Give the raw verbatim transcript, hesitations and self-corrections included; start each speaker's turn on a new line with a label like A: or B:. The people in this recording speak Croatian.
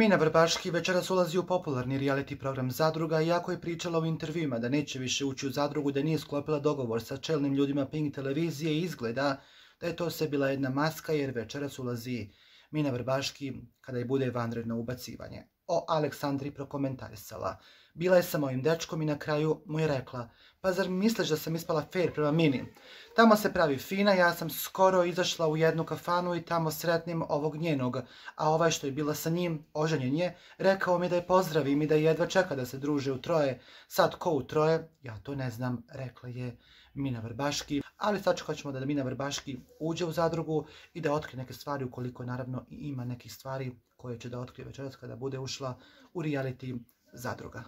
A: Mina Vrbaški večeras ulazi u popularni reality program Zadruga, iako je pričala u intervjuima da neće više ući u Zadrugu, da nije sklopila dogovor sa čelnim ljudima Pink televizije i izgleda da je to sve bila jedna maska jer večeras ulazi Mina Vrbaški kada je bude vanredno ubacivanje. O Aleksandri prokomentarisala: bila je sa mojim dečkom i na kraju mu je rekla: pa zar misliš da sam ispala fair prema Mini? Tamo se pravi fina, ja sam skoro izašla u jednu kafanu i tamo sretnim ovog njenog, a ovaj što je bila sa njim, oženjen je, rekao mi da je pozdravim i da jedva čeka da se druže u troje. Sad ko u troje? Ja to ne znam, rekla je Mina Vrbaški, ali sačekat ćemo da Mina Vrbaški uđe u Zadrugu i da otkrije neke stvari, ukoliko naravno ima nekih stvari koje će da otkrije večeras kada bude ušla u reality Zadruga.